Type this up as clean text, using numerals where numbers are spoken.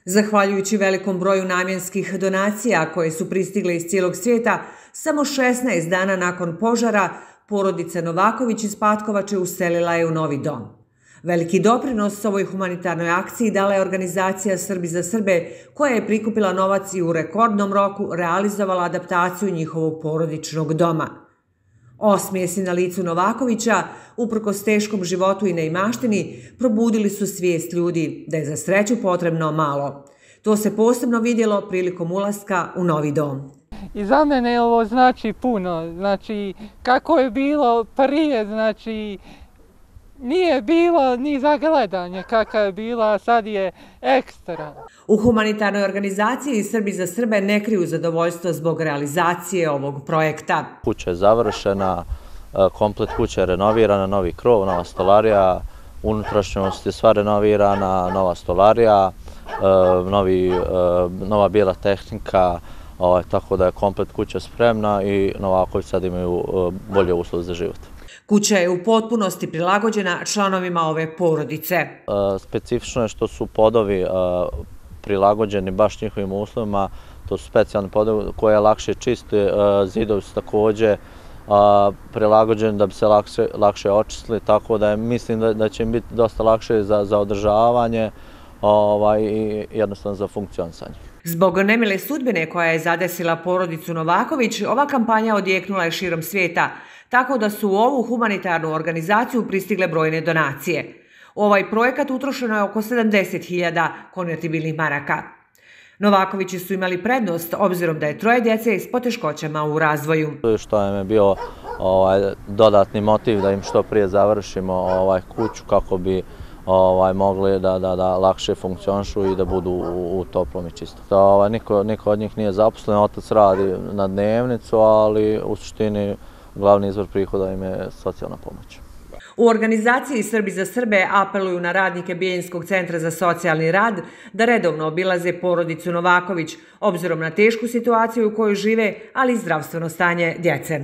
Zahvaljujući velikom broju namjenskih donacija koje su pristigle iz cijelog svijeta, samo 16 dana nakon požara porodica Novaković iz Patkovače uselila je u novi dom. Veliki doprinos ovoj humanitarnoj akciji dala je organizacija Srbi za Srbe, koja je prikupila novac i u rekordnom roku realizovala adaptaciju njihovog porodičnog doma. Osmijesi na licu Novakovića, uprkos teškom životu i neimaštini, probudili su svijest ljudi da je za sreću potrebno malo. To se posebno vidjelo prilikom ulaska u novi dom. I za mene ovo znači puno. Znači, kako je bilo prije, znači, nije bilo ni za gledanje kakva je bila, a sad je ekstra. U humanitarnoj organizaciji Srbi za Srbe ne kriju zadovoljstvo zbog realizacije ovog projekta. Kuća je završena, komplet kuća je renovirana, novi krov, nova stolarija, unutrašnjost je sva renovirana, nova stolarija, nova bijela tehnika, tako da je komplet kuća spremna i Novaković sad imaju bolje uslove za život. Kuća je u potpunosti prilagođena članovima ove porodice. Specifično je što su podovi prilagođeni baš njihovim uslovima, to su specijalni podovi koje lakše čiste, zidovi su također prilagođeni da bi se lakše očistili, tako da mislim da će im biti dosta lakše za održavanje i jednostavno za funkcionisanje. Zbog nemile sudbine koja je zadesila porodicu Novaković, ova kampanja odjeknula je širom svijeta, tako da su u ovu humanitarnu organizaciju pristigle brojne donacije. U ovaj projekat utrošeno je oko 70.000 konvertibilnih maraka. Novakovići su imali prednost obzirom da je troje djece s poteškoćama u razvoju. Što nam je bio dodatni motiv da im što prije završimo kuću kako bi mogli da lakše funkcionišu i da budu u toplom i čistom. Niko od njih nije zaposlen, otac radi na dnevnicu, ali u suštini glavni izvor prihoda im je socijalna pomoć. U organizaciji Srbi za Srbe apeluju na radnike Bijeljinskog centra za socijalni rad da redovno obilaze porodicu Novaković, obzirom na tešku situaciju u kojoj žive, ali i zdravstveno stanje djece.